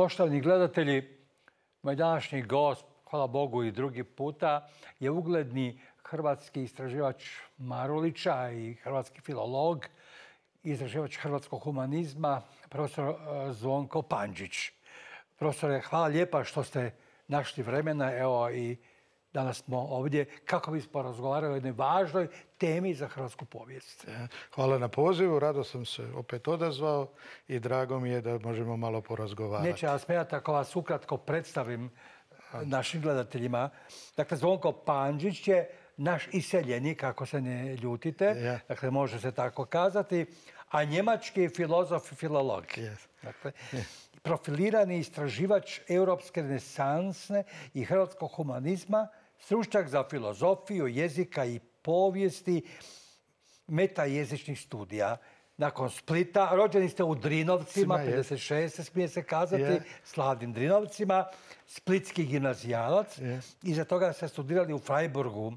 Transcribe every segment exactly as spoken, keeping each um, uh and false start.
Poštovani gledatelji, moj današnji gost, hvala Bogu i drugi puta, je ugledni hrvatski istraživač Marulića i hrvatski filolog, istraživač hrvatskog humanizma, profesor Zvonko Pandžić. Profesore, hvala lijepa što ste našli vremena, evo i danas smo ovdje kako bismo razgovarali o jednoj važnoj temi za hrvatsku povijest. Hvala na pozivu, rado sam se opet odazvao i drago mi je da možemo malo porazgovarati. Neće vas smijati ako vas ukratko predstavim našim gledateljima. Dakle, Zvonko Pandžić je naš iseljenik, ako se ne ljutite, dakle može se tako kazati, a njemački filozof i filolog. Dakle, profilirani istraživač europske renesansne i hrvatskog humanizma, stručnjak za filozofiju, jezika i povijesti, metajezičnih studija. Nakon Splita, rođeni ste u Drinovcima, pedeset šest smije se kazati, slavnim Drinovcima, splitski gimnazijalac. Iza toga ste studirali u Freiburgu.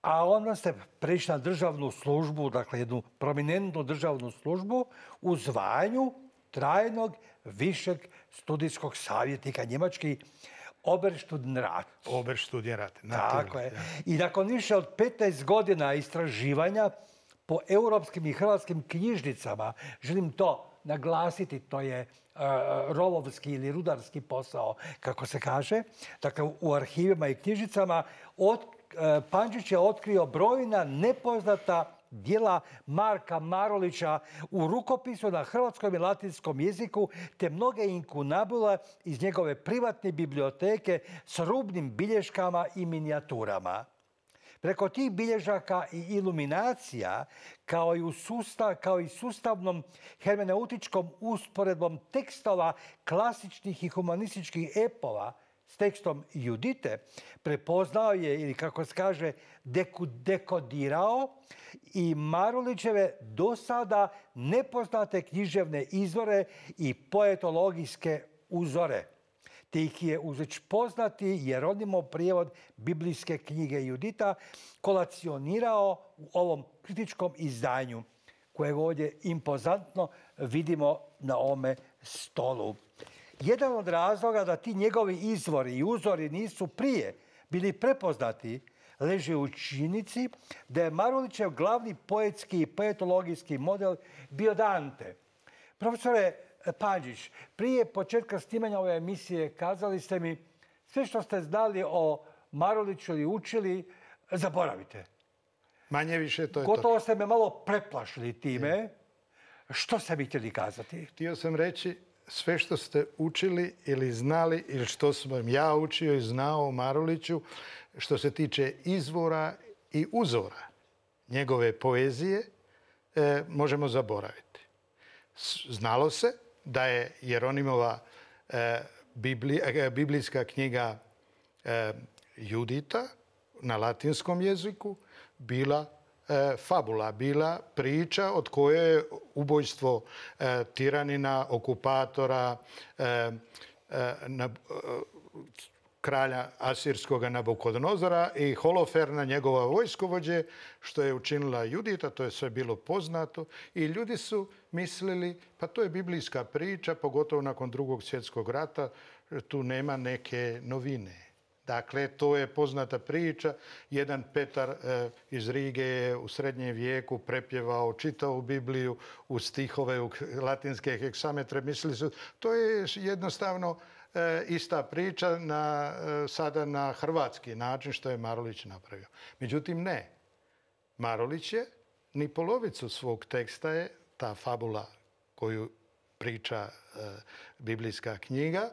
A onda ste prešli na državnu službu, dakle jednu prominentnu državnu službu u zvanju trajnog višeg studijskog savjetnika, njemački Oberstudienrat. Oberstudienrat, tako je. I nakon više od petnaest godina istraživanja po europskim i hrvatskim knjižnicama, želim to naglasiti, to je rovovski ili rudarski posao, kako se kaže, dakle u arhivima i knjižnicama, Pandžić je otkrio brojna nepoznata djela Marka Marulića u rukopisu na hrvatskom i latinskom jeziku, te mnoge inkunabule iz njegove privatne biblioteke s rubnim bilješkama i minijaturama. Preko tih bilježaka i iluminacija, kao i, u sustav, kao i sustavnom hermeneutičkom usporedbom tekstova klasičnih i humanističkih epova s tekstom Judite, prepoznao je, ili kako se kaže, dekodirao i Marulićeve do sada nepoznate književne izvore i poetologijske uzore, te ih je uz već poznati Jeronimov prijevod biblijske knjige Judita kolacionirao u ovom kritičkom izdanju, kojeg ovdje impozantno vidimo na ovome stolu. Jedan od razloga da ti njegovi izvori i uzori nisu prije bili prepoznati leži u činjenici da je Marulićev glavni poetski i poetologijski model bio Dante. Profesore Pandžić, prije početka snimanja ove emisije kazali ste mi sve što ste znali o Maruliću i učili, zaboravite. Manje više to je Gotovo to. Ste me malo preplašili time. Je. Što ste mi htjeli kazati? Htio sam reći sve što ste učili ili znali ili što sam ja učio i znao o Maruliću što se tiče izvora i uzora njegove poezije e, možemo zaboraviti. Znalo se da je Jeronimova e, Bibli, e, biblijska knjiga e, Judita na latinskom jeziku bila e, fabula, bila priča od koje je ubojstvo e, tiranina, okupatora, e, e, na, e, kralja asirskog Nabukodonozora i Holoferna, njegova vojskovođe, što je učinila Judita, to je sve bilo poznato. I ljudi su mislili, pa to je biblijska priča, pogotovo nakon drugog svjetskog rata, tu nema neke novine. Dakle, to je poznata priča. Jedan Petar e, iz Rige je u srednjem vijeku prepjevao, čitao Bibliju u stihove, u latinske heksametre. Mislili su, to je jednostavno e, ista priča na, e, sada na hrvatski način što je Marulić napravio. Međutim, ne. Marulić je ni polovicu svog teksta je ta fabula koju priča e, biblijska knjiga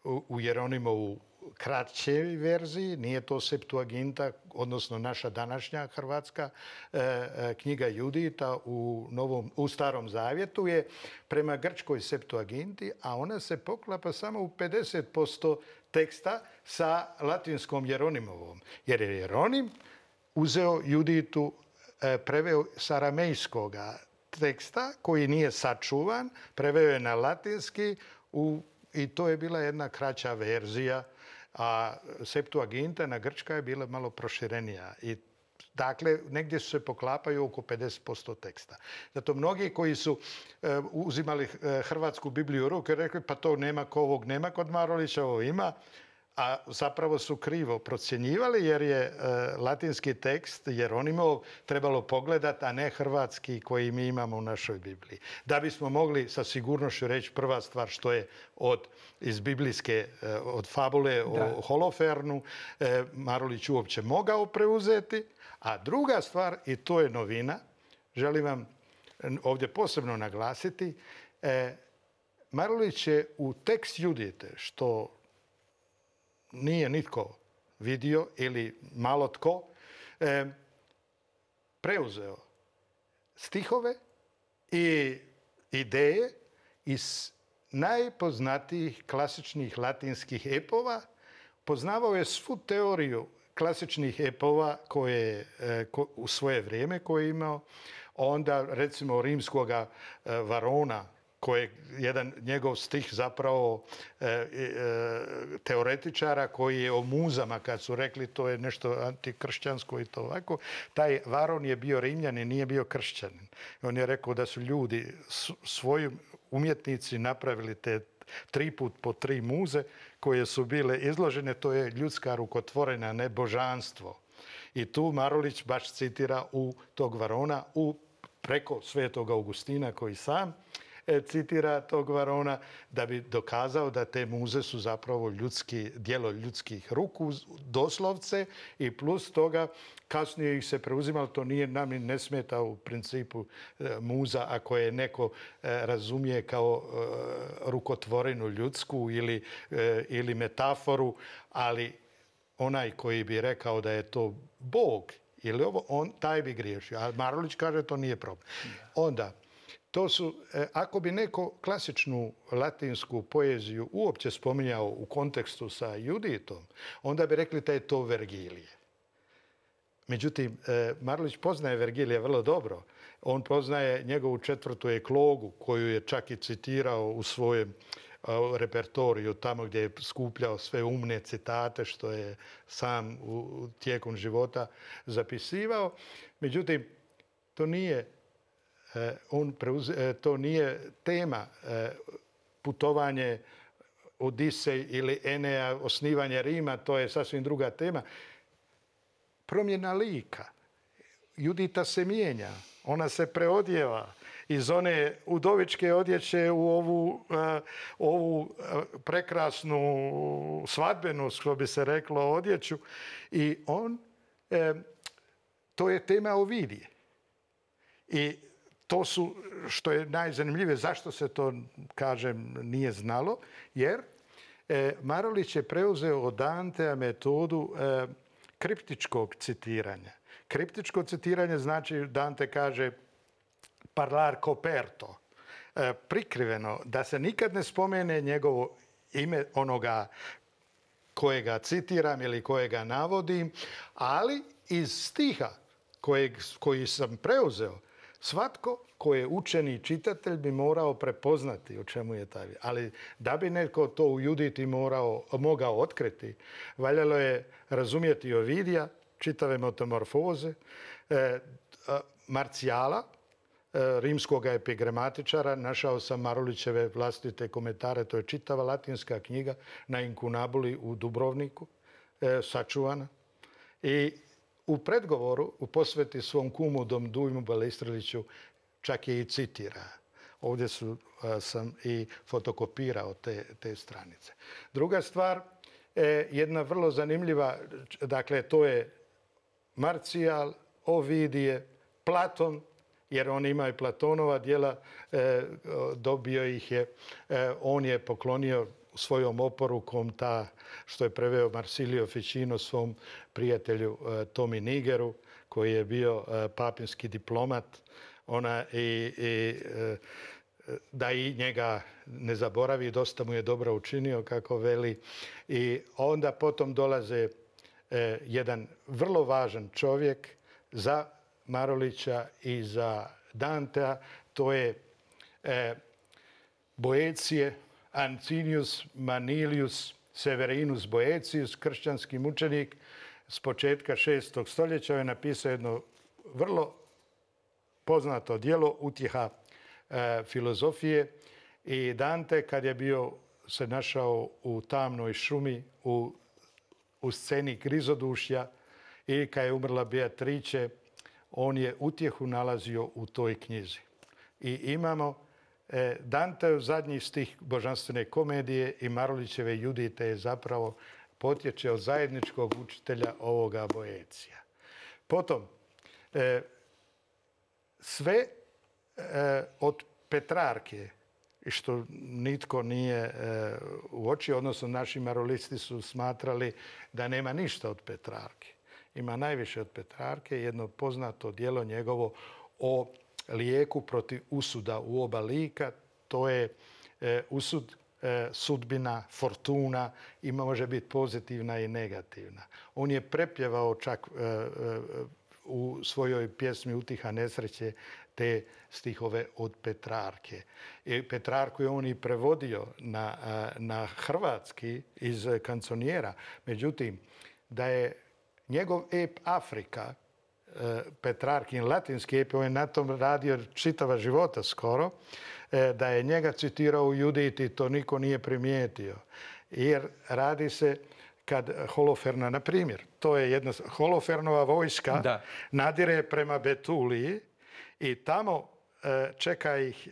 u, u Jeronimovu kraćoj verziji, nije to Septuaginta, odnosno naša današnja hrvatska e, knjiga Judita u, novom, u Starom Zavjetu je prema grčkoj Septuaginti, a ona se poklapa samo u pedeset posto teksta sa latinskom Jeronimovom. Jer je Jeronim uzeo Juditu, e, preveo s aramejskoga teksta koji nije sačuvan, preveo je na latinski u, i to je bila jedna kraća verzija, a Septuaginta na grčka je bila malo proširenija i Dakle, negdje se poklapaju oko pedeset posto teksta. Zato mnogi koji su e, uzimali hrvatsku Bibliju u ruke rekli pa to nema ko ovog nema kod Marulića, ovo ima. A zapravo su krivo procjenjivali jer je e, latinski tekst Jeronimov trebalo pogledati, a ne hrvatski koji mi imamo u našoj Bibliji. Da bismo mogli sa sigurnošću reći prva stvar što je od, iz biblijske, e, od fabule da. o Holofernu e, Marulić uopće mogao preuzeti. A druga stvar, i to je novina, želim vam ovdje posebno naglasiti, e, Marulić je u tekst Judite, što nije nitko vidio ili malo tko, e, preuzeo stihove i ideje iz najpoznatijih klasičnih latinskih epova. Poznavao je svu teoriju klasičnih epova koje e, ko, u svoje vrijeme koje je imao. Onda recimo rimskoga e, Varona, koji je jedan njegov stih zapravo e, e, teoretičara koji je o muzama, kad su rekli to je nešto antikršćansko i to ovako. Taj Varon je bio Rimljanin, nije bio kršćanin. On je rekao da su ljudi svojim umjetnici napravili te tri put po tri muze koje su bile izložene. To je ljudska rukotvorena, ne božanstvo. I tu Marulić baš citira u tog Varona, u preko svetog Augustina koji sam citira tog Varona da bi dokazao da te muze su zapravo ljudski, djelo ljudskih ruku, doslovce, i plus toga kasnije ih se preuzimalo, to nije nam ne smeta u principu muza ako je neko razumije kao rukotvorenu ljudsku ili, ili metaforu, ali onaj koji bi rekao da je to Bog ili ovo, on taj bi griješio. A Marulić kaže to nije problem. Onda, to su, ako bi neko klasičnu latinsku poeziju uopće spominjao u kontekstu sa Juditom, onda bi rekli da je to Vergilije. Međutim, Marulić poznaje Vergilija vrlo dobro. On poznaje njegovu četvrtu eklogu, koju je čak i citirao u svojem repertoriju, tamo gdje je skupljao sve umne citate što je sam u tijekom života zapisivao. Međutim, to nije On preuze, to nije tema putovanje Odisej ili Enea, osnivanje Rima, to je sasvim druga tema. Promjena lika. Judita se mijenja, ona se preodjeva iz one udovičke odjeće u ovu, ovu prekrasnu svadbenu, što bi se reklo, odjeću. I on, to je tema Ovidije. I to su, što je najzanimljivije, zašto se to, kažem, nije znalo, jer e, Marulić je preuzeo od Dantea metodu e, kriptičkog citiranja. Kriptičko citiranje znači, Dante kaže parlar coperto, e, prikriveno, da se nikad ne spomene njegovo ime onoga kojega citiram ili kojega navodim, ali iz stiha kojeg, koji sam preuzeo, svatko ko je učeni čitatelj bi morao prepoznati o čemu je taj. Ali da bi netko to u Juditi morao, mogao otkriti, valjalo je razumjeti Ovidija, čitave metamorfoze, e, Marcijala, e, rimskog epigramatičara. Našao sam Marulićeve vlastite komentare, to je čitava latinska knjiga na Inkunabuli u Dubrovniku, e, sačuvana. I u predgovoru, u posveti svom kumu Dom Dujmu Balestreliću, čak je i citira. Ovdje su, a, sam i fotokopirao te, te stranice. Druga stvar, e, jedna vrlo zanimljiva, dakle, to je Marcijal, Ovidije, Platon, jer on ima i Platonova djela, e, dobio ih je, e, on je poklonio svojom oporukom ta što je preveo Marsilio Ficino svom prijatelju e, Tomi Nigeru, koji je bio e, papinski diplomat, ona i, i e, da i njega ne zaboravi, dosta mu je dobro učinio, kako veli. I onda potom dolaze e, jedan vrlo važan čovjek za Marulića i za Dantea, to je e, Boecije, Ancinius Manilius Severinus Boetius, kršćanski mučenik, s početka šestog stoljeća je napisao jedno vrlo poznato djelo Utjeha e, filozofije. I Dante, kad je bio se našao u tamnoj šumi, u, u sceni grizodušja i kad je umrla Beatrice, on je utjehu nalazio u toj knjizi. I imamo e, Danteov zadnji stih Božanstvene komedije i Marulićeve Judite je zapravo potječe od zajedničkog učitelja ovoga Boecija. Potom, e, sve e, od Petrarke, što nitko nije e, uočio, odnosno naši marulisti su smatrali da nema ništa od Petrarke. Ima najviše od Petrarke, jedno poznato djelo njegovo o lijeku protiv usuda u oba lika. To je e, usud, e, sudbina, fortuna i može biti pozitivna i negativna. On je prepjevao čak e, e, u svojoj pjesmi Utiha nesreće te stihove od Petrarke. I Petrarku je on i prevodio na, na hrvatski iz kanconijera. Međutim, da je njegov ep Afrika, Petrarkin latinski ep, on je na tom radio čitava života skoro, da je njega citirao u Juditi, to niko nije primijetio. Jer radi se kad Holoferna, na primjer, to je jedna Holofernova vojska, da. Nadire prema Betuliji i tamo e, čeka ih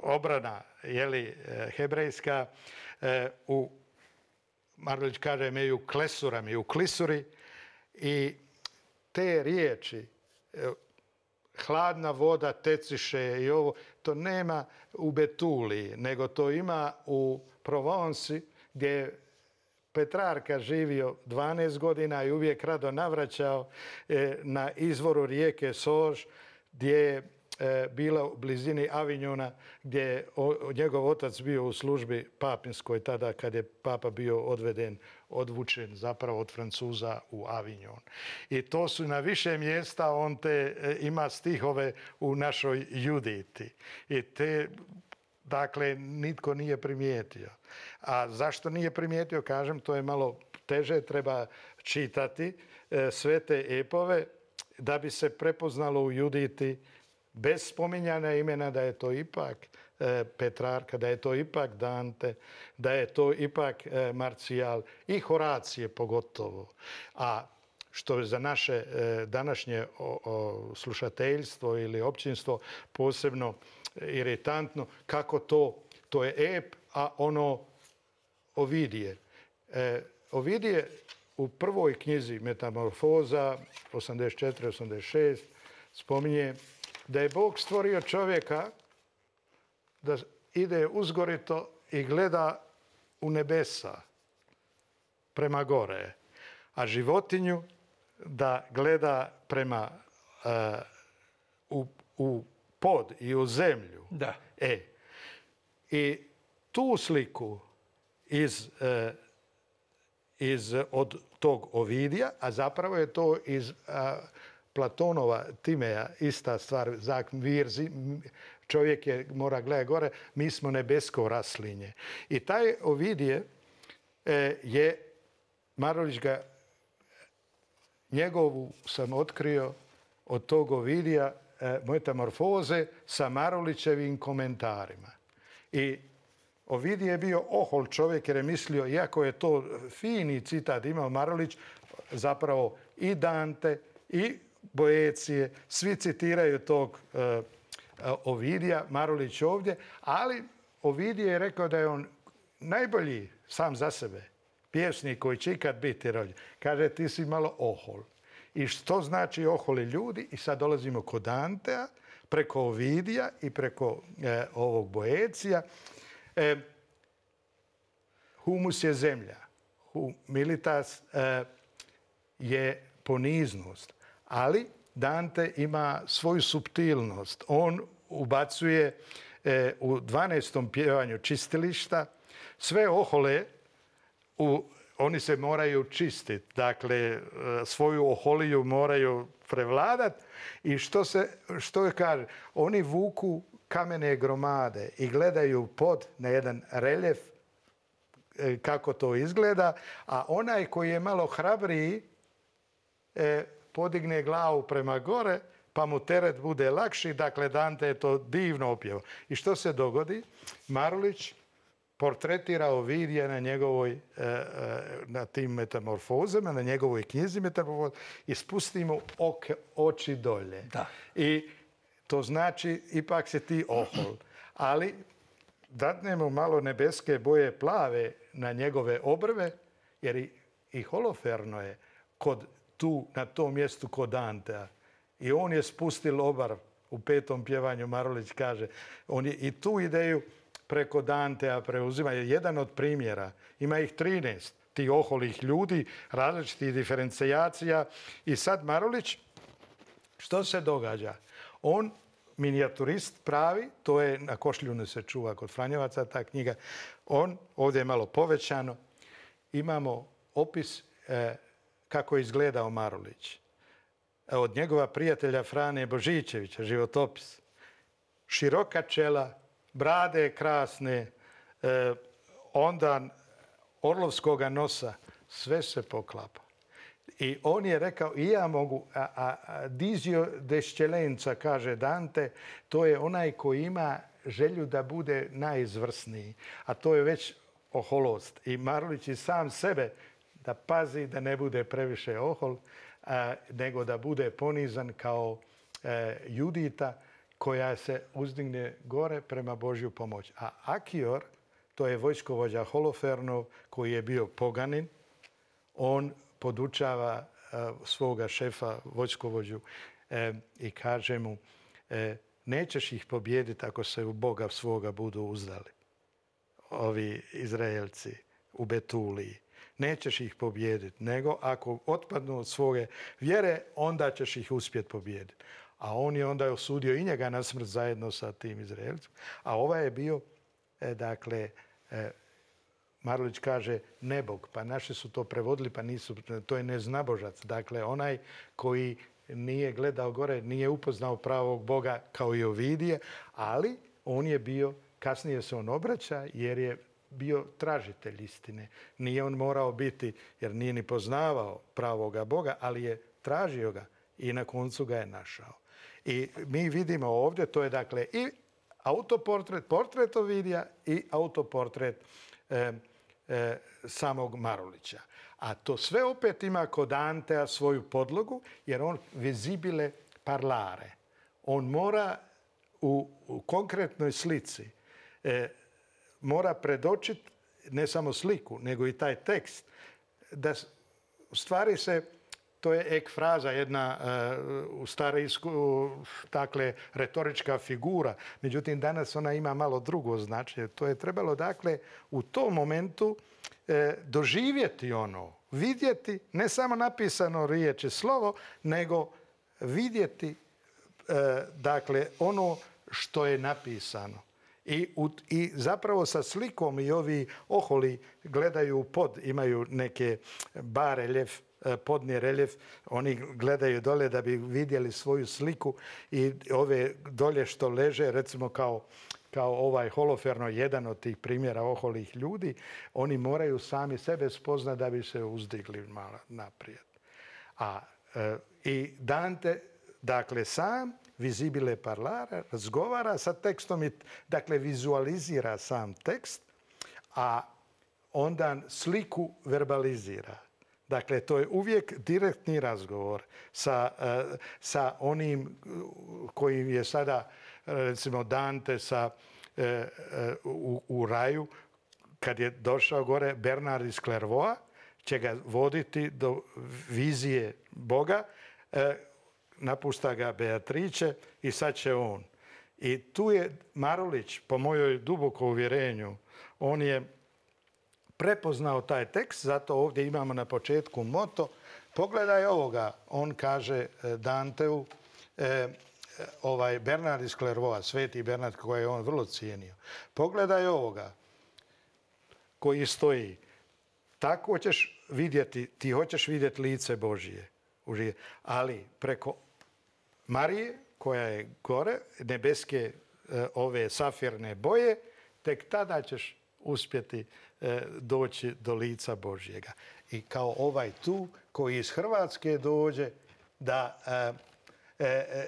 obrana, jeli, hebrejska, e, u, Marulić kaže, imaju klesurami, u klisuri i te riječi, e, hladna voda teciše i ovo, to nema u Betuliji, nego to ima u Provonsi gdje je Petrarka živio dvanaest godina i uvijek rado navraćao e, na izvoru rijeke Sorž, gdje je e, bila u blizini Avignona, gdje je o, njegov otac bio u službi papinskoj tada kad je papa bio odveden, odvučen zapravo od Francuza u Avignon. I to su na više mjesta, on te e, ima stihove u našoj Juditi. I te, dakle, nitko nije primijetio. A zašto nije primijetio, kažem, to je malo teže, treba čitati e, sve te epove da bi se prepoznalo u Juditi bez spominjanja imena da je to ipak e, Petrarka, da je to ipak Dante, da je to ipak e, Marcijal i Horacije pogotovo. A što je za naše e, današnje o, o, slušateljstvo ili općinstvo posebno iritantno, kako to, to je ep, a ono Ovidije. E, Ovidije u prvoj knjizi Metamorfoza, osamdeset četiri osamdeset šest, spominje da je Bog stvorio čovjeka da ide uzgorito i gleda u nebesa prema gore, a životinju da gleda prema uh, u, u pod i u zemlju. Da. E, i tu sliku iz, uh, iz, od tog Ovidija, a zapravo je to iz uh, Platonova Timeja, ista stvar, zak virzi, čovjek je, mora gledati gore, mi smo nebesko raslinje. I taj Ovidije e, je, Marulić ga, njegovu sam otkrio od tog Ovidija e, Metamorfoze sa Marulićevim komentarima. I Ovidije je bio ohol čovjek jer je mislio, iako je to fini citat imao Marulić, zapravo i Dante i Boecije, svi citiraju tog e, Ovidija, Marulić ovdje, ali Ovidije je rekao da je on najbolji sam za sebe pjesnik koji će ikad biti rođen. Kaže, ti si malo ohol. I što znači oholi ljudi? I sad dolazimo kod Dantea, preko Ovidija i preko e, ovog Boecija. E, humus je zemlja. Humilitas e, je poniznost. Ali Dante ima svoju suptilnost. On ubacuje e, u dvanaestom pjevanju čistilišta sve ohole, u, oni se moraju čistiti. Dakle, svoju oholiju moraju prevladati. I što se, što je kaže? Oni vuku kamene gromade i gledaju pod na jedan reljef e, kako to izgleda, a onaj koji je malo hrabriji e, podigne glavu prema gore, pa mu teret bude lakši. Dakle, Dante je to divno opjevao. I što se dogodi? Marulić portretira Ovidija na njegovoj, e, e, na tim metamorfozama, na njegovoj knjizi metamorfoza i spusti mu oke, oči dolje. Da. I to znači, ipak se ti ohol. Ali dadnemo malo nebeske boje plave na njegove obrve, jer i, i Holoferno je kod tu, na tom mjestu kod Dantea. I on je spustil obar u petom pjevanju, Marulić kaže. On je i tu ideju preko Dantea preuzima. Je jedan od primjera. Ima ih trinaest tih oholih ljudi, različitih diferencijacija. I sad Marulić, što se događa? On, minijaturist pravi, to je na Košljunu se čuva kod Franjevaca ta knjiga. On, ovdje je malo povećano, imamo opis eh, kako je izgledao Marulić. Od njegova prijatelja Frane Božićevića, životopis. Široka čela, brade krasne, eh, onda orlovskoga nosa, sve se poklapa. I on je rekao, i ja mogu, a, a, a dizio desčelenca, kaže Dante, to je onaj koji ima želju da bude najizvrsniji, a to je već oholost. I Marulić i sam sebe da pazi da ne bude previše ohol, a, nego da bude ponizan kao e, Judita koja se uzdigne gore prema Božju pomoć. A Akior, to je vojskovođa Holofernov koji je bio poganin, on podučava uh, svoga šefa, vojskovođu, e, i kaže mu, e, nećeš ih pobijediti ako se u Boga svoga budu uzdali. Ovi Izraelci u Betuliji. Nećeš ih pobijediti, nego ako otpadnu od svoje vjere, onda ćeš ih uspjeti pobijediti. A on je onda osudio i njega na smrt zajedno sa tim Izraelcima. A ovaj je bio, e, dakle, e, Marulić kaže nebog, pa naši su to prevodili, pa nisu, to je neznabožac. Dakle, onaj koji nije gledao gore, nije upoznao pravog Boga kao i Ovidije, ali on je bio, kasnije se on obraća jer je bio tražitelj istine. Nije on morao biti, jer nije ni poznavao pravoga Boga, ali je tražio ga i na koncu ga je našao. I mi vidimo ovdje, to je dakle i autoportret, portret Ovidija i autoportret e, e, samog Marulića. A to sve opet ima kod Dantea svoju podlogu, jer on visibile parlare. On mora u, u konkretnoj slici e, mora predočiti ne samo sliku, nego i taj tekst. Da u stvari se, to je ekfraza, jedna uh, u starijsku, dakle, retorička figura. Međutim, danas ona ima malo drugo značenje. To je trebalo, dakle, u tom momentu eh, doživjeti ono, vidjeti, ne samo napisano riječ i slovo, nego vidjeti, eh, dakle, ono što je napisano. I, u, I zapravo sa slikom i ovi oholi gledaju pod, imaju neke bareljef, podni reljef, oni gledaju dole da bi vidjeli svoju sliku i ove dolje što leže, recimo kao, kao ovaj Holoferno, jedan od tih primjera oholih ljudi, oni moraju sami sebe spoznati da bi se uzdigli malo naprijed. A e, i Dante, dakle, sam visibile parlare, razgovara sa tekstom i, dakle, vizualizira sam tekst, a onda sliku verbalizira. Dakle, to je uvijek direktni razgovor sa, sa onim kojim je sada, recimo, Dante sa, u, u raju, kad je došao gore, Bernard iz Clairvoa će ga voditi do vizije Boga, napušta ga Beatrice i sad će on. I tu je Marulić, po mojoj dubokom uvjerenju, on je prepoznao taj tekst, zato ovdje imamo na početku moto. Pogledaj ovoga, on kaže Danteu, eh, ovaj Bernard iz Clairvoa, sveti Bernard koji je on vrlo cijenio. Pogledaj ovoga koji stoji. Tako ćeš vidjeti, ti hoćeš vidjeti lice Božije. Ali preko Marije, koja je gore, nebeske eh, ove safirne boje, tek tada ćeš uspjeti doći do lica Božjega. I kao ovaj tu koji iz Hrvatske dođe da,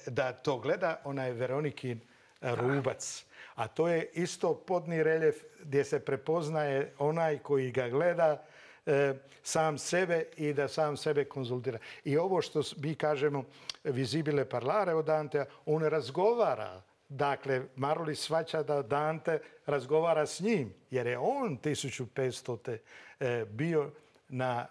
da to gleda, onaj Veronikin rubac. A to je isto podni reljef gdje se prepoznaje onaj koji ga gleda sam sebe i da sam sebe konzultira. I ovo što mi kažemo visibile parlare od Dantea, on razgovara. Dakle, Marulić shvaća da Dante razgovara s njim, jer je on tisuću petstote bio na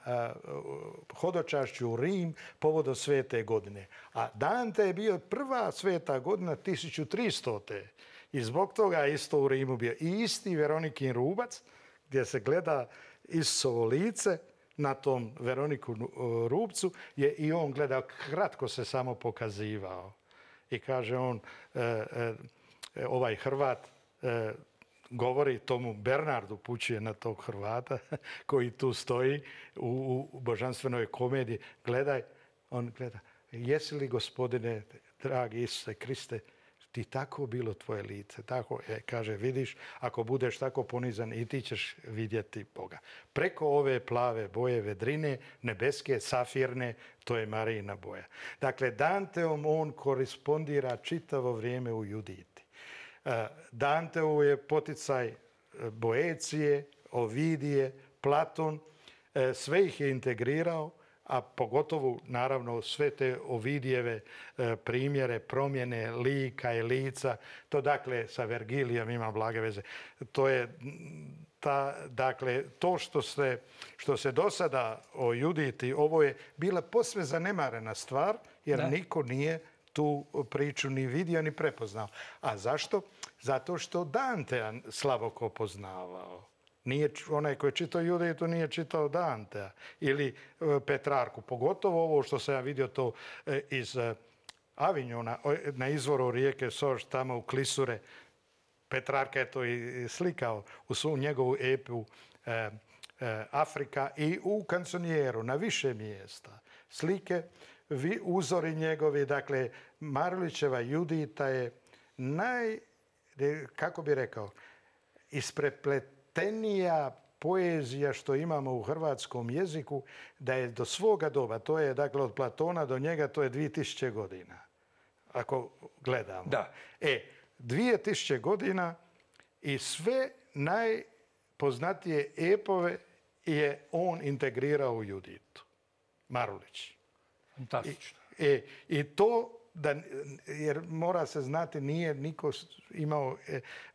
hodočašću u Rim povodom svete godine. A Dante je bio prva sveta godina tisuću tristote. I zbog toga je isto u Rimu bio. I isti Veronikin rubac, gdje se gleda Isusovo lice na tom Veroniku rubcu, je i on gledao, kratko se samo pokazivao. I kaže on, ovaj Hrvat govori tomu Bernardu, pućuje na tog Hrvata koji tu stoji u, u božanstvenoj komediji. Gledaj, on gleda, jesi li, gospodine, dragi Isuse Kriste, ti tako bilo tvoje lice. Tako je, kaže, vidiš, ako budeš tako ponizan i ti ćeš vidjeti Boga. Preko ove plave boje vedrine, nebeske, safirne, to je Marijina boja. Dakle, Danteom on korespondira čitavo vrijeme u Juditi. Danteu je poticaj Boecije, Ovidije, Platon, sve ih je integrirao, a pogotovo, naravno, sve te Ovidijeve primjere, promjene lika i lica. To, dakle, sa Vergilijom ima blage veze. To je, ta, dakle, to što se, što se do sada o Juditi, ovo je bila posve zanemarena stvar, jer ne. Niko nije tu priču ni vidio, ni prepoznao. A zašto? Zato što Dantea Slavoko poznavao. Nije, onaj koji je čitao Juditu nije čitao Dantea ili Petrarku. Pogotovo ovo što sam ja vidio to iz Avignona, na izvoru rijeke Sorš, tamo u Klisure. Petrarka je to i slikao u svu njegovu epu eh, eh, Afrika i u Kansonijeru na više mjesta. Slike, vi, uzori njegovi, dakle, Marulićeva Judita je naj, kako bi rekao, isprepletenija poezija što imamo u hrvatskom jeziku, da je do svoga doba, to je, dakle, od Platona do njega, to je dvije tisuće godina, ako gledamo. Da. E, dvije tisuće godina i sve najpoznatije epove je on integrirao u Juditu. Marulić. Fantastično. I, e, i to, da, jer mora se znati, nije niko imao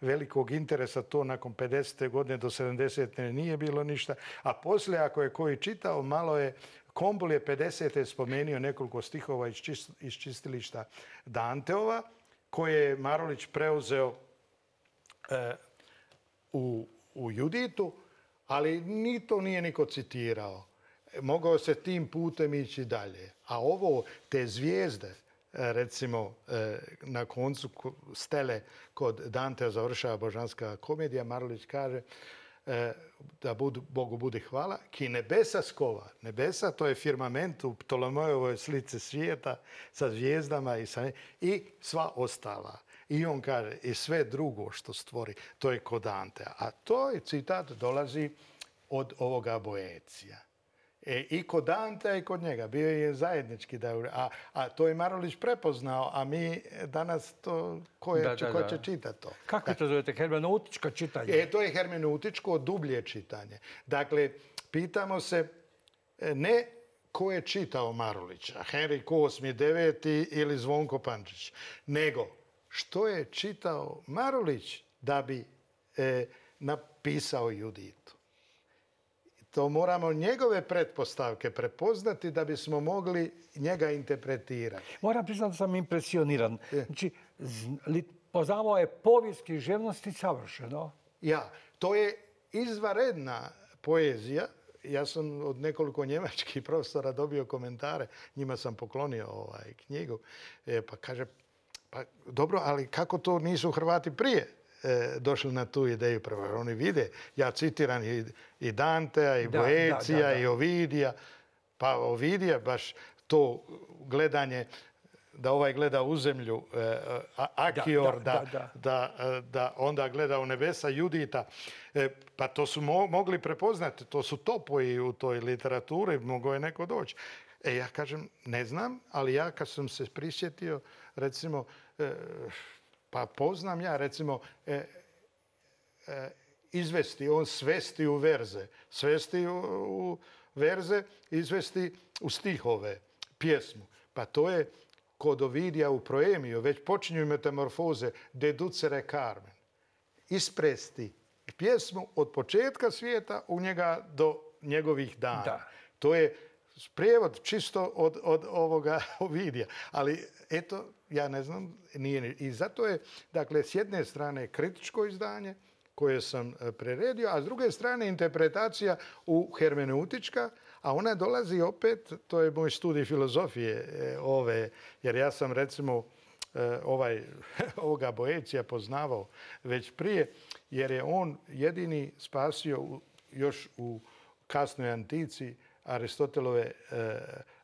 velikog interesa to nakon pedesete godine do sedamdesete nije bilo ništa. A poslije, ako je koji čitao, malo je, Kombul je pedesete spomenio nekoliko stihova iz, čist, iz čistilišta Danteova, koje je Marulić preuzeo e, u, u Juditu, ali ni to nije niko citirao. Mogao se tim putem ići dalje. A ovo, te zvijezde, recimo na koncu stele kod Dantea završava božanska komedija, Marulić kaže da budu, Bogu budi hvala, ki nebesa skova. Nebesa, to je firmament u Ptolomejovoj slici svijeta sa zvijezdama i, sa, i sva ostala. I on kaže, i sve drugo što stvori, to je kod Dantea. A to je citat dolazi od ovoga Boecija. E, I kod Dantea i kod njega. Bio je zajednički. Da, a, a to je Marulić prepoznao, a mi danas to, ko, je, da, da, ko da. će čitati to? Kako to zovete? Hermeneutičko čitanje? E, to je hermeneutičko dublje čitanje. Dakle, pitamo se ne ko je čitao Marulića, Henrik osmi, deveti ili Zvonko Pančić, nego što je čitao Marulić da bi e, napisao Juditu. To moramo njegove pretpostavke prepoznati da bismo mogli njega interpretirati. Moram priznati da sam impresioniran. Znači, poznavao je povijest književnosti savršeno. Ja, to je izvanredna poezija. Ja sam od nekoliko njemačkih profesora dobio komentare. Njima sam poklonio ovaj knjigu. E, pa kaže, pa dobro, ali kako to nisu Hrvati prije došli na tu ideju prvo. Oni vide, ja citiram i, i Dantea, i da, Boecija, da, da, da. i Ovidija. Pa Ovidija, baš to gledanje da ovaj gleda u zemlju, e, Akior, da, Da, da, da, da. da, da onda gleda u nebesa, Judita. E, pa to su mo, mogli prepoznati, to su topoji u toj literaturi, mogao je neko doći. E, ja kažem, ne znam, ali ja kad sam se prisjetio, recimo, e, pa poznam ja, recimo, e, e, izvesti, on svesti u verze, svesti u, u verze, izvesti u stihove, pjesmu. Pa to je kod Ovidija u Proemiju, već počinju metamorfoze, deducere Carmen. Ispresti pjesmu od početka svijeta u njega do njegovih dana. Da. To je prijevod čisto od, od ovoga Ovidija. Ali eto, ja ne znam, nije. I zato je, dakle, s jedne strane kritičko izdanje koje sam preredio, a s druge strane interpretacija u hermeneutička, a ona dolazi opet, to je moj studij filozofije ove, jer ja sam recimo ovaj, ovoga Boecija poznavao već prije, jer je on jedini spasio još u kasnoj antici Aristotelove e,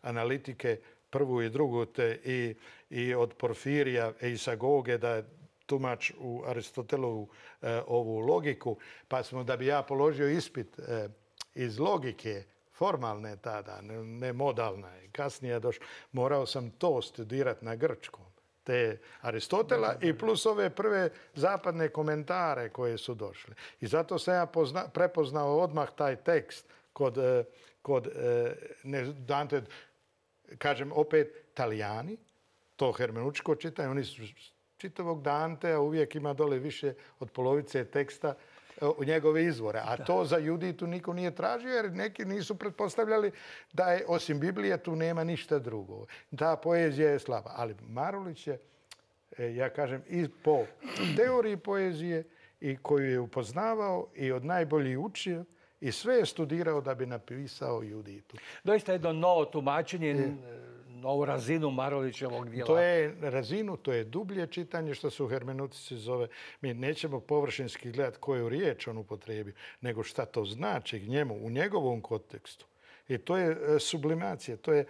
analitike prvu i drugu te i, i od Porfirija i Isagoge da je tumač u Aristotelovu e, ovu logiku, pa smo da bi ja položio ispit e, iz logike, formalne tada, ne, ne modalna, kasnije došlo, morao sam to studirati na grčkom, te Aristotela i plus ove prve zapadne komentare koje su došle. I zato sam ja pozna, prepoznao odmah taj tekst kod, kod ne, Dante, kažem opet, Talijani, to hermeneutičko čitanje, oni su čitavog Dantea uvijek ima dole više od polovice teksta u njegove izvore. A to za Juditu niko nije tražio jer neki nisu pretpostavljali da je osim Biblije tu nema ništa drugo. Ta poezija je slaba. Ali Marulić je, ja kažem, i po teoriji poezije i koju je upoznavao i od najboljih učio i sve je studirao da bi napisao Juditu. Doista jedno novo tumačenje, je. novu razinu Marulićevog djela. To je razinu, to je dublje čitanje što se u hermeneutici zove. Mi nećemo površinski gledati koju riječ on upotrijebio, nego šta to znači njemu, u njegovom kontekstu. I to je sublimacija, to je,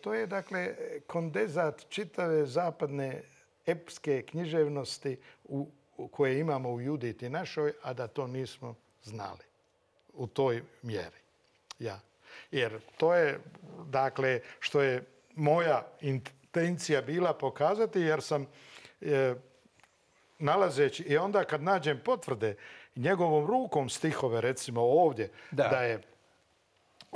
to je dakle kondenzat čitave zapadne epske književnosti u, u koje imamo u Juditi našoj, a da to nismo znali u toj mjeri. Ja. Jer to je, dakle, što je moja intencija bila pokazati, jer sam e, nalazeći i onda kad nađem potvrde njegovom rukom stihove, recimo ovdje, da, da je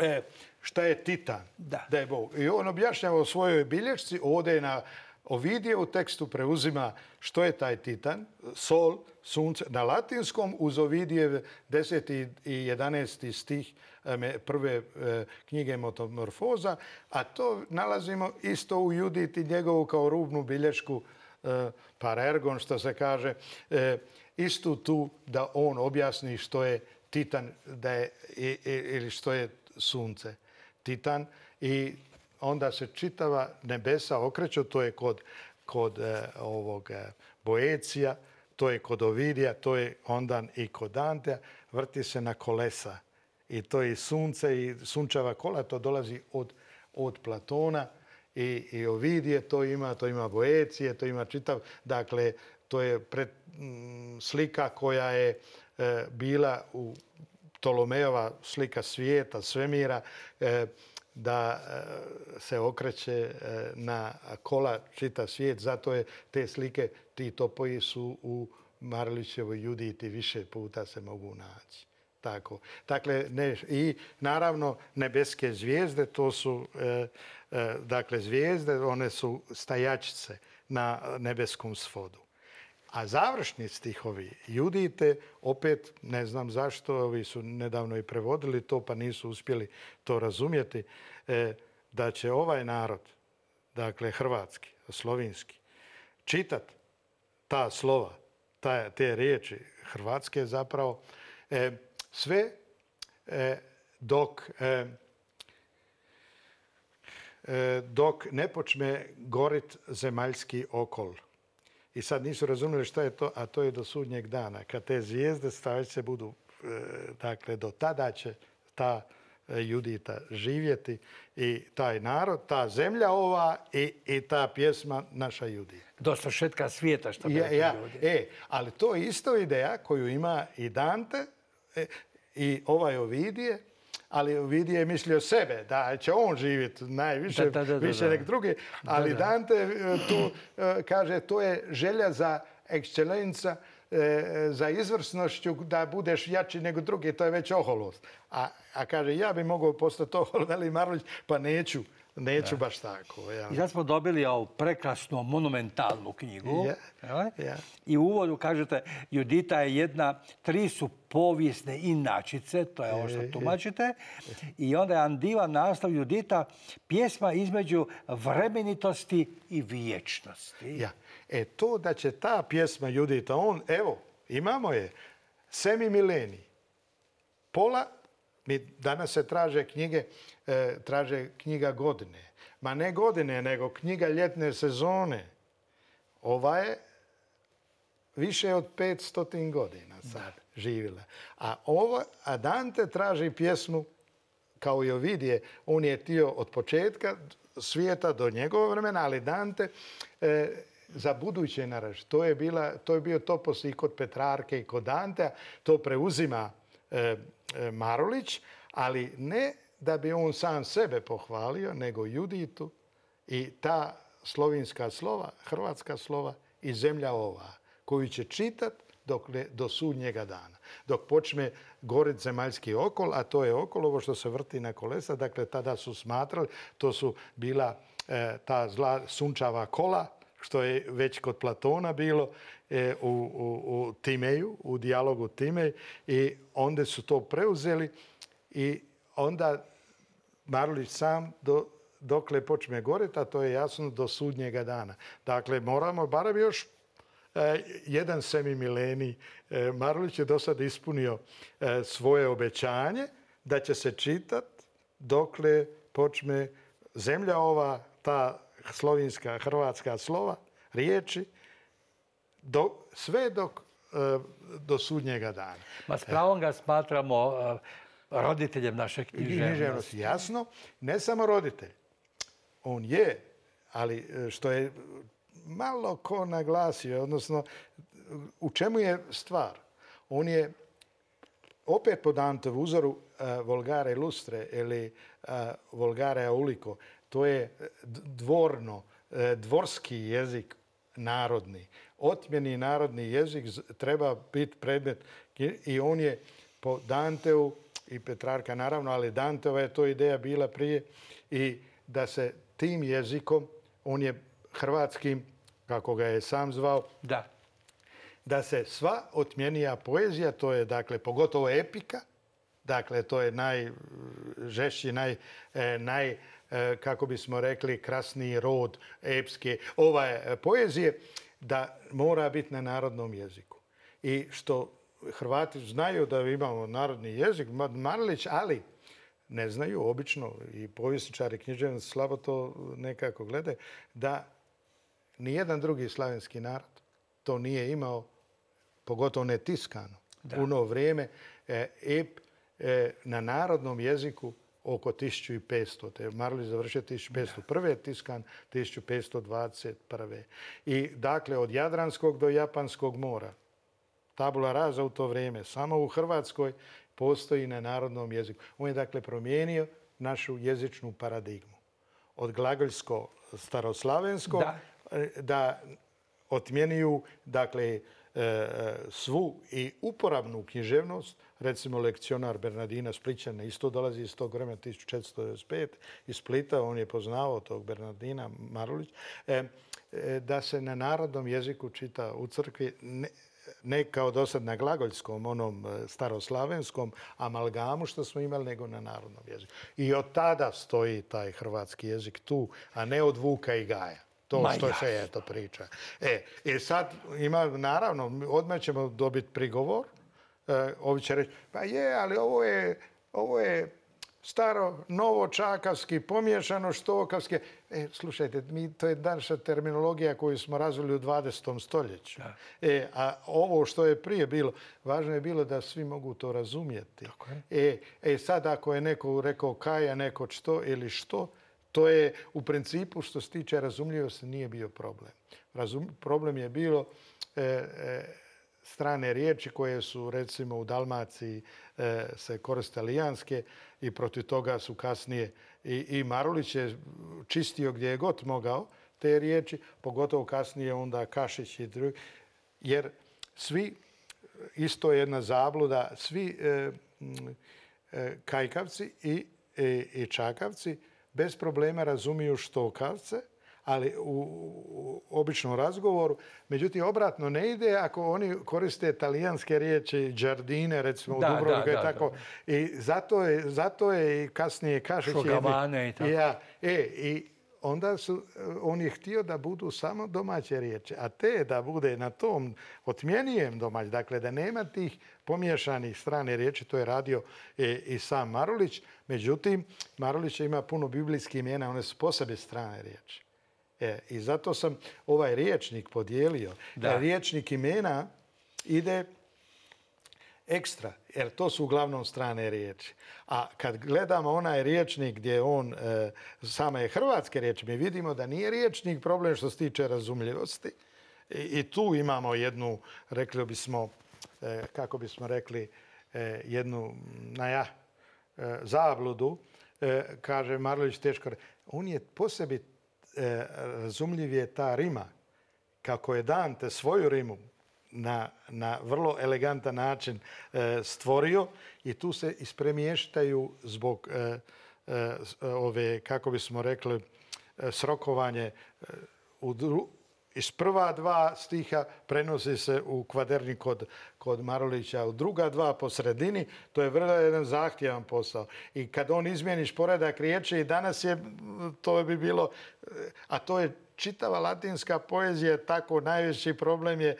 e, šta je Titan, da. da je Bog. I on objašnjava u svojoj bilješci, ovdje je na Ovidije u tekstu preuzima što je taj Titan, sol, sunce, na latinskom uz Ovidijev deseti i jedanaesti stih prve knjige Metamorfoza, a to nalazimo isto u Juditi njegovu kao rubnu bilješku parergon, što se kaže, istu tu da on objasni što je Titan da je, ili što je sunce. Titan i onda se čitava nebesa okreću, to je kod, kod eh, ovog eh, Boecija, to je kod Ovidija, to je onda i kod Dantea, vrti se na kolesa. I to je sunce i sunčeva kola, to dolazi od, od Platona i, i Ovidije, to ima, to ima Boecije, to ima čitav, dakle, to je pred, m, slika koja je eh, bila u Ptolomejova slika svijeta, svemira, eh, da se okreće na kola čita svijet. Zato je te slike, ti topoji su u Marulićevoj Juditi više puta se mogu naći. Tako. Dakle, ne, i naravno nebeske zvijezde, to su e, e, dakle zvijezde, one su stajačice na nebeskom svodu. A završni stihovi Judite, opet ne znam zašto, ovi su nedavno i prevodili to pa nisu uspjeli to razumjeti, e, da će ovaj narod, dakle hrvatski, slovinski, čitat ta slova, ta, te riječi hrvatske zapravo, e, sve e, dok, e, e, dok ne počne gorit zemaljski okol. I sad nisu razumjeli šta je to, a to je do sudnjeg dana. Kad te zvijezde stavit se budu, dakle, do tada će ta Judita živjeti i taj narod, ta zemlja ova i, i ta pjesma naša Judita. Do svršetka svijeta, što bi Ja, rekli ja, ljudi. e, ali to je isto ideja koju ima i Dante e, i ovaj Ovidije, ali Ovidije je mislio sebe, da će on živjeti najviše, Da, da, da, da, više da. nek drugi, ali Da, da. Dante e, tu e, kaže to je želja za ekscelenca, e, za izvrsnošću da budeš jači nego drugi, to je već oholost. A, a kaže ja bi mogao postati ohol, veli Marulić, pa neću, neću baš tako. Ja. I sad smo dobili ovu prekrasnu, monumentalnu knjigu. Ja, jel? ja. I u uvodu kažete, Judita je jedna, tri su povijesne inačice, to je ovo što tumačite. I onda je Andivan naslov Judita, pjesma između vremenitosti i vječnosti. Ja. E to da će ta pjesma Judita, on, evo, imamo je, semi milenij, pola, mi danas se traže knjige, e, traže knjiga godine. Ma ne godine, nego knjiga ljetne sezone. Ova je više od petstotin godina sad živjela. A, ova, a Dante traži pjesmu kao i Ovidije. On je htio od početka svijeta do njegovog vremena, ali Dante e, za buduće naraštaje. To je, bila, to je bio topos i kod Petrarke i kod Dantea. To preuzima e, e, Marulić, ali ne da bi on sam sebe pohvalio, nego Juditu i ta slovinska slova, hrvatska slova i zemlja ova, koju će čitat dokle, do sudnjega dana. Dok počne gorit zemaljski okol, a to je okol, ovo što se vrti na kolesa, dakle tada su smatrali, to su bila e, ta zla sunčava kola, što je već kod Platona bilo e, u, u, u Timeju, u dijalogu Timej, i onda su to preuzeli i onda Marulić sam do, dokle počne goriti, a to je jasno do sudnjega dana. Dakle, moramo barem još e, jedan semimilenij. E, Marulić je do sada ispunio e, svoje obećanje da će se čitat dokle počne zemlja ova, ta slovinska, hrvatska slova, riječi, do, sve dok e, do sudnjega dana. Ma s pravom ga smatramo e, roditeljem naše književnosti. Književnosti, jasno. Ne samo roditelj. On je, ali što je malo ko naglasio, odnosno u čemu je stvar? On je opet po Dantevu uzoru uh, Volgare Lustre ili uh, Volgare Aulico. To je dvorno, uh, dvorski jezik narodni. Otmjeni narodni jezik treba biti predmet i on je po Danteu i Petrarka naravno, ali Danteova je to ideja bila prije i da se tim jezikom, on je hrvatskim, kako ga je sam zvao, Da. da se sva otmjenija poezija, to je dakle pogotovo epika, dakle to je najžešći, naj, naj, kako bismo rekli, krasniji rod epske ove poezije, da mora biti na narodnom jeziku. I što Hrvati znaju da imamo narodni jezik, Marulić, ali ne znaju, obično i povjesničari književnosti slabo to nekako gledaju, da nijedan drugi slavenski narod to nije imao, pogotovo ne tiskano. Da. U ono vrijeme e, ep e, na narodnom jeziku oko tisuću petsto. Te Marulić završio tisuću petsto prve, tiskan tisuću petsto dvadeset prve. I dakle, od Jadranskog do Japanskog mora, tabula rasa u to vrijeme, samo u Hrvatskoj postoji na narodnom jeziku. On je dakle promijenio našu jezičnu paradigmu. Od glagoljsko staroslavensko da, da otmjenjuju dakle, svu i uporabnu književnost. Recimo lekcionar Bernardina Splićana isto dolazi iz tog vremena tisuću četiristo devedeset pet iz Splita, on je poznavao tog Bernardina Marulić, da se na narodnom jeziku čita u crkvi, ne, ne kao do sad na glagoljskom, onom staroslavenskom amalgamu što smo imali, nego na narodnom jeziku. I od tada stoji taj hrvatski jezik tu, a ne od Vuka i Gaja. To što se je to priča. E, i sad ima, naravno, odmah ćemo dobiti prigovor. E, ovi će reći, pa je, ali ovo je, ovo je staro, novo čakavski, pomiješano štokavski. E, slušajte, mi, to je naša terminologija koju smo razvili u dvadesetom stoljeću. E, a ovo što je prije bilo, važno je bilo da svi mogu to razumjeti. E, e, sad ako je neko rekao kaja, neko što ili što, to je u principu što se tiče razumljivosti nije bio problem. Razum, problem je bilo e, e, strane riječi koje su recimo u Dalmaciji e, se koriste talijanske i protiv toga su kasnije i, i Marulić je čistio gdje je god mogao te riječi, pogotovo kasnije onda Kašić i drugi, jer svi, isto je jedna zabluda, svi e, e, kajkavci i, i, i čakavci bez problema razumiju štokavce, ali u, u običnom razgovoru. Međutim, obratno ne ide ako oni koriste talijanske riječi, džardine, recimo da, u Dubrovniku da, i da, tako. Da. I zato je, zato je i kasnije Kašić... Šogavane i tako. Ja, e, i onda su, on je htio da budu samo domaće riječi, a te da bude na tom otmjenijem domać, dakle da nema tih pomiješanih strane riječi, to je radio i, i sam Marulić. Međutim, Marulić ima puno biblijskih imena, one su posebne strane riječi. E, I zato sam ovaj riječnik podijelio. Da. Riječnik imena ide ekstra, jer to su uglavnom strane riječi. A kad gledamo onaj riječnik gdje on, e, same hrvatske riječi, mi vidimo da nije riječnik problem što se tiče razumljivosti. I, i tu imamo jednu, rekli bismo, e, kako bismo rekli, e, jednu naja, e, zabludu. E, kaže Marulić teško. On je po sebi e, razumljiv je ta rima. Kako je Dante svoju rimu na, na vrlo elegantan način e, stvorio i tu se ispremještaju zbog e, e, ove, kako bismo rekli, e, srokovanje e, u dru, iz prva dva stiha prenosi se u kvaderni kod, kod Marulića, u druga dva po sredini. To je vrlo jedan zahtjevan posao. I kad on izmijeniš poredak riječi i danas je, to bi bilo, a to je čitava latinska poezija, tako najveći problem je,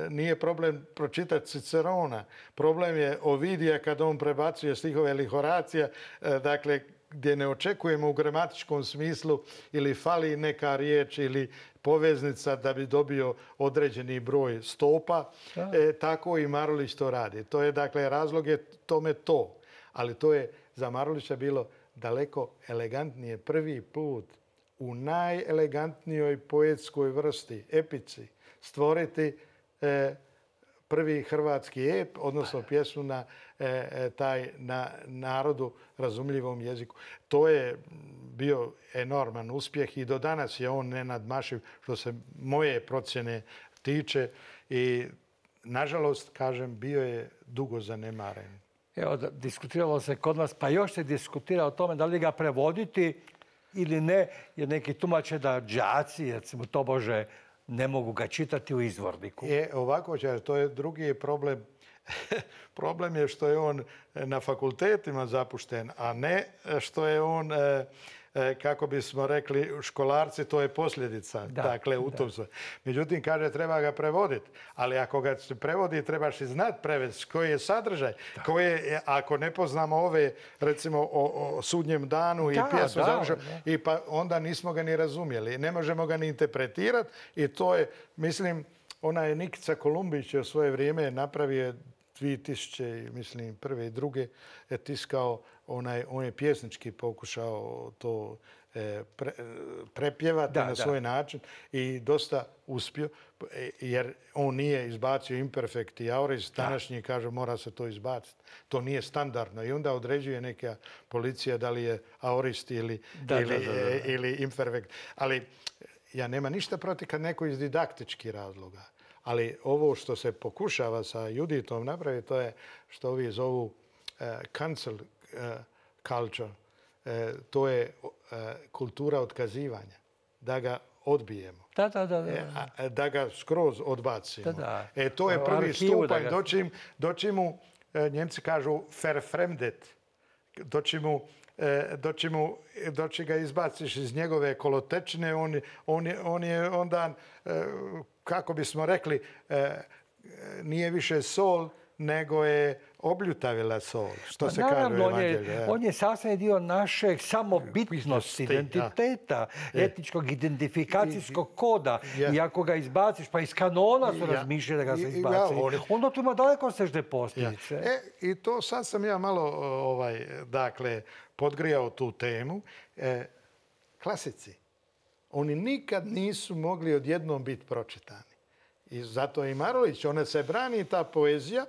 nije problem pročitati Cicerona. Problem je Ovidija kad on prebacuje stihove ili Horacija, dakle, gdje ne očekujemo u gramatičkom smislu ili fali neka riječ ili poveznica da bi dobio određeni broj stopa. E, tako i Marulić to radi. To je, dakle, razlog je tome to. Ali to je za Marulića bilo daleko elegantnije prvi put u najelegantnijoj poetskoj vrsti, epici, stvoriti e, prvi hrvatski ep, odnosno pjesmu na e, taj na narodu razumljivom jeziku. To je bio enorman uspjeh i do danas je on nenadmašiv što se moje procjene tiče i nažalost, kažem, bio je dugo zanemaren. Evo, diskutiralo se kod nas, pa još se diskutira o tome da li ga prevoditi ili ne, jer neki tumače da đaci, recimo tobože, ne mogu ga čitati u izvorniku. Je, ovako će, to je drugi problem. Problem je što je on na fakultetima zapušten, a ne što je on, kako bismo rekli, školarci, to je posljedica. Da, dakle, u tom se. Međutim, kaže, treba ga prevoditi. Ali ako ga se prevodi, trebaš i znati prevesti koji je sadržaj. Koje, ako ne poznamo ove, recimo, o, o sudnjem danu i pjesmu završenu, i pa onda nismo ga ni razumjeli. Ne možemo ga ni interpretirati i to je, mislim, onaj Nikica Kolumbić je u svoje vrijeme napravio dvije tisuće, mislim, prve i druge, je tiskao, onaj, on je pjesnički pokušao to e, pre, prepjevati da, na svoj da. način i dosta uspio, jer on nije izbacio imperfekt i auris, današnji kaže mora se to izbaciti. To nije standardno i onda određuje neka policija da li je aurist ili, da, ili, da, da, da. ili imperfekt. Ali ja nema ništa protiv kad neko iz didaktičkih razloga. Ali ovo što se pokušava sa Juditom napraviti, to je što ovi zovu uh, cancel uh, culture. Uh, to je uh, kultura otkazivanja. Da ga odbijemo. Da, da, da. Da, e, da ga skroz odbacimo. Da, da. E, to je prvi Arhivu stupanj. Ga... Dočim, dočim mu, uh, Njemci kažu verfremdet. Dočim mu doći, mu, doći ga izbaciš iz njegove kolotečine, on, on, je, on je onda, kako bismo rekli, nije više sol, nego je obljutavila sol, što Pa se kaže u naravno, on je, Evanđelju. ja. on je sastavni dio našeg samobitnosti, Bitnosti, identiteta, Je. etničkog identifikacijskog koda. Je. I ako ga izbaciš, pa iz kanona su Ja. razmišljali da ga I- se i- ja, izbaci, oni- onda tu ima daleko sežne Ja. posljedice. E, i to sad sam ja malo ovaj, dakle, podgrijao tu temu. E, klasici, oni nikad nisu mogli odjednom biti pročitani. I zato i Marulić, ona se brani ta poezija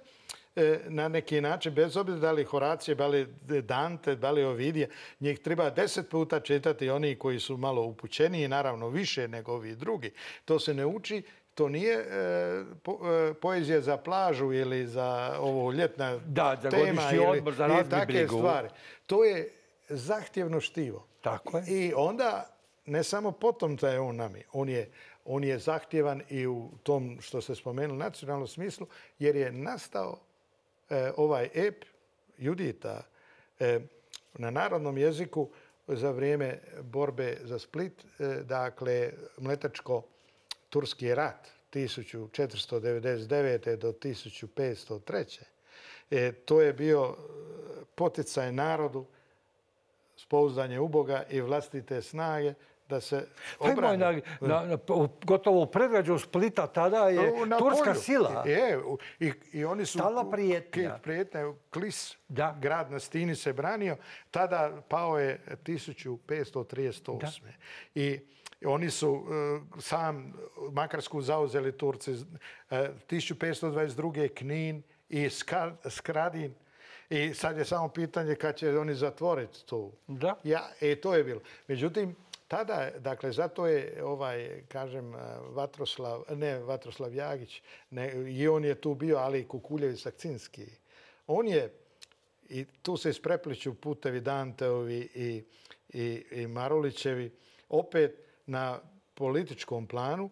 e, na neki način, bez obzira da li Horacije, da li Dante, da li Ovidije, njih treba deset puta čitati oni koji su malo upućeniji, naravno više nego ovi drugi. To se ne uči. To nije e, po, e, poezija za plažu ili za ovo ljetna Da, za tema godišnji ili, odmor, za ili razmi takve brigu. stvari. To je zahtjevno štivo. Tako je. I onda, ne samo potom da je on nami, on je, on je zahtjevan i u tom što ste spomenuli nacionalnom smislu, jer je nastao e, ovaj ep Judita e, na narodnom jeziku za vrijeme borbe za Split, e, dakle Mletačko-turski rat tisuću četiristo devedeset devete do tisuću petsto treće. E, to je bio poticaj narodu, spouzdanje u Boga i vlastite snage da se Pa ima obrani. na, na, na, u- gotovo u predgrađu Splita tada je Na turska polju. sila. Je, u- i, i oni su... Stalna prijetnja. Ki- Prijetnja. Klis, Da. grad na Stini se branio. Tada pao je tisuću petsto trideset osme. I oni su e, sam Makarsku zauzeli Turci. e, tisuću petsto dvadeset druge. Knin i Skar- Skradin. I sad je samo pitanje kad će oni zatvoriti to. Da. Ja, e, to je bilo. Međutim, tada, dakle, zato je ovaj, kažem, Vatroslav, ne Vatroslav Jagić, ne, i on je tu bio, ali i Kukuljević Sakcinski. On je, i tu se isprepliču putevi Danteovi i, i, i Marulićevi, opet na političkom planu,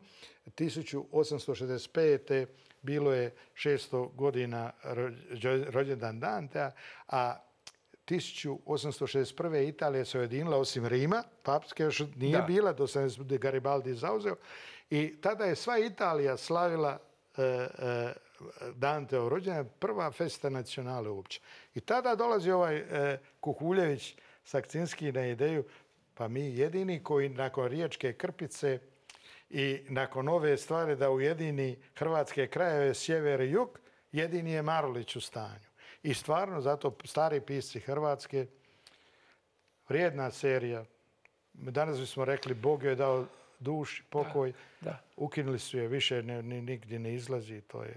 tisuću osamsto šezdeset pete bilo je šesto godina rođ- rođendan Dantea, a tisuću osamsto šezdeset prve. Italija se ujedinila, osim Rima, papske još nije Da. bila, do se Garibaldi zauzeo. I tada je sva Italija slavila e, e, Danteov rođendan, prva festa nacionale uopće. I tada dolazi ovaj e, Kukuljević Sakcinski na ideju, pa mi jedini koji nakon Riječke Krpice i nakon ove stvari da ujedini hrvatske krajeve, sjever i jug, jedini je Marulić u stanju. I stvarno, zato stari pisci Hrvatske, vrijedna serija. Danas bismo rekli, Bog joj je dao duši, pokoj. Da. Ukinuli su je, više ne, ni, nigdje ne izlazi. To je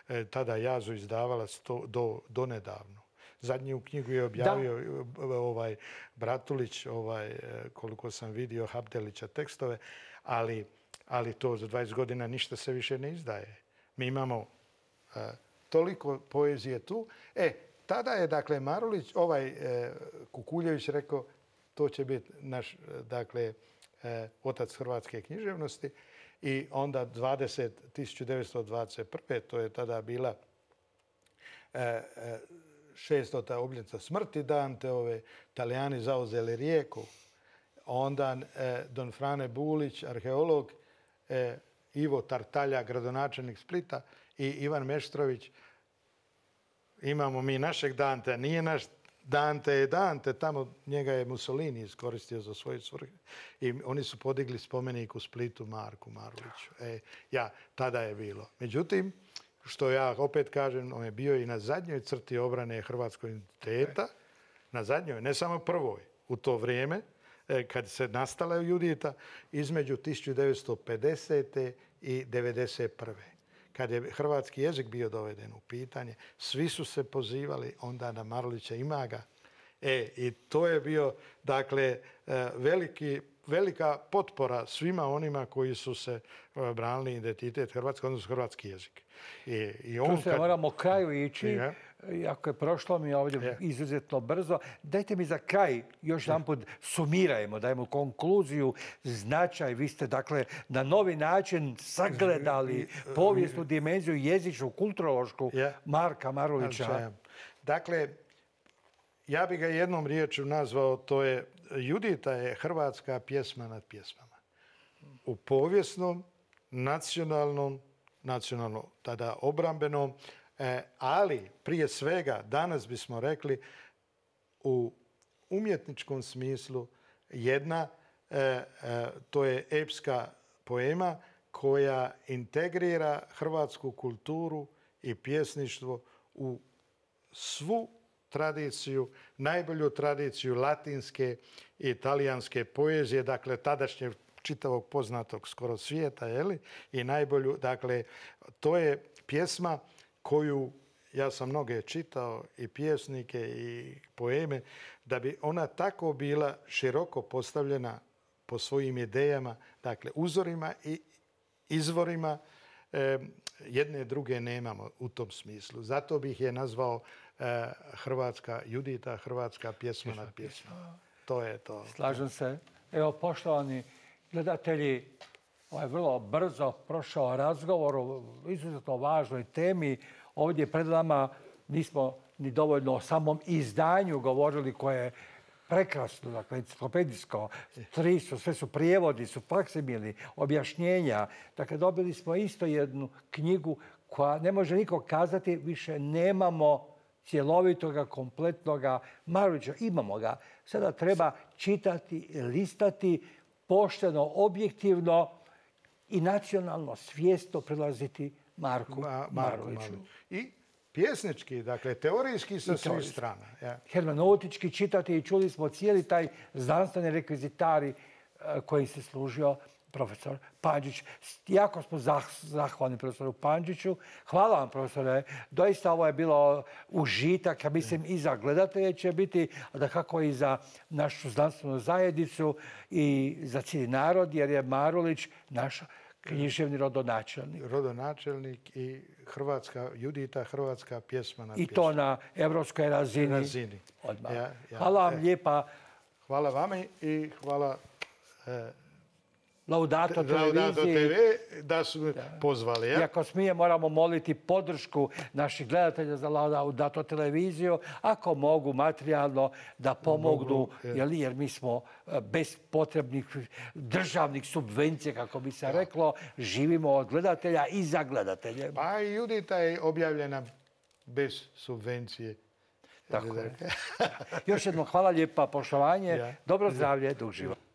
e, tada Jazu izdavala sto, do, do nedavno. Zadnju knjigu je objavio ovaj Bratulić, ovaj, e, koliko sam vidio, Habdelića tekstove, ali, ali to za dvadeset godina ništa se više ne izdaje. Mi imamo e, toliko poezije tu. E, tada je, dakle, Marulić, ovaj e, Kukuljević rekao, to će biti naš, dakle, e, otac hrvatske književnosti. I onda dvadeset, tisuću devetsto dvadeset prve. to je tada bila e, e, šestota obljetnica smrti Danteove, Talijani zauzeli Rijeku. Onda e, Don Frane Bulić, arheolog, e, Ivo Tartalja, gradonačelnik Splita i Ivan Meštrović. Imamo mi našeg Dantea, nije naš Dante je Dante, tamo njega je Mussolini iskoristio za svoje svrhe. I oni su podigli spomenik u Splitu Marku Maruliću. E, ja, tada je bilo. Međutim, što ja opet kažem, on je bio i na zadnjoj crti obrane hrvatskog identiteta, na zadnjoj, ne samo prvoj, u to vrijeme, kad se nastala Judita, između tisuću devetsto pedesete. i devedeset prve. Kad je hrvatski jezik bio doveden u pitanje, svi su se pozivali onda na Marulića, ima ga. E, i to je bio, dakle, veliki, velika potpora svima onima koji su se branili identitet hrvatskog, odnosno hrvatski jezik. I, i on Tu se kad... moramo kraju ići. Ja. Iako je prošlo mi ovdje Je. izuzetno brzo. Dajte mi za kraj još jedanput sumirajmo, dajmo konkluziju, značaj. Vi ste, dakle, na novi način sagledali povijesnu dimenziju, jezičnu, kulturološku Je. Marka Marulića. Dakle, ja bih ga jednom riječju nazvao, to je, Judita je hrvatska pjesma nad pjesmama. U povijesnom, nacionalnom, nacionalno tada obrambenom, E, ali, prije svega, danas bismo rekli u umjetničkom smislu jedna, e, e, to je epska poema koja integrira hrvatsku kulturu i pjesništvo u svu tradiciju, najbolju tradiciju latinske i italijanske poezije, dakle tadašnje čitavog poznatog skoro svijeta, jeli? I najbolju, dakle, to je pjesma koju, ja sam mnoge čitao, i pjesnike i poeme, da bi ona tako bila široko postavljena po svojim idejama, dakle uzorima i izvorima, e, jedne druge nemamo u tom smislu. Zato bih je nazvao e, hrvatska Judita, hrvatska pjesma nad pjesma. To je to. Slažem se. Evo, poštovani gledatelji, ovaj vrlo brzo prošao razgovor o izuzetno važnoj temi. Ovdje pred nama nismo ni dovoljno o samom izdanju govorili koje je prekrasno, dakle, enciklopedijsko, tri su, sve su prijevodi, su faksimili, objašnjenja. Dakle, dobili smo isto jednu knjigu koja ne može niko kazati, više nemamo cjelovitoga, kompletnoga Marulića. Imamo ga. Sada treba čitati, listati, pošteno, objektivno i nacionalno svjesno prilaziti Marku Ma, Maruliću. I pjesnički, dakle, teorijski sa svih strana. Ja. Hermeneutički čitati i čuli smo cijeli taj znanstveni rekvizitari koji se služio profesor Pandžić. Jako smo zahvalni profesoru Pandžiću. Hvala vam, profesore. Doista ovo je bilo užitak, ja mislim, i za gledatelje će biti, a da kako i za našu znanstvenu zajednicu i za cijeli narod, jer je Marulić naša književni rodonačelnik. Rodonačelnik i hrvatska Judita, hrvatska pjesma na I to na evropskoj razini. razini. Ja, ja. Hvala vam e, lijepa. Hvala vama i hvala e, Laudato televiziji. te ve da su da. pozvali. Ja? Iako smije, moramo moliti podršku naših gledatelja za Laudato televiziju, ako mogu materijalno da pomognu, mogu, jer, jer mi smo bez potrebnih državnih subvencija, kako bi se ja. reklo, živimo od gledatelja i za gledatelje. Pa i Judita je objavljena bez subvencije. Tako je. Još jednom hvala lijepa, poštovanje, ja. dobro zdravlje, dug život.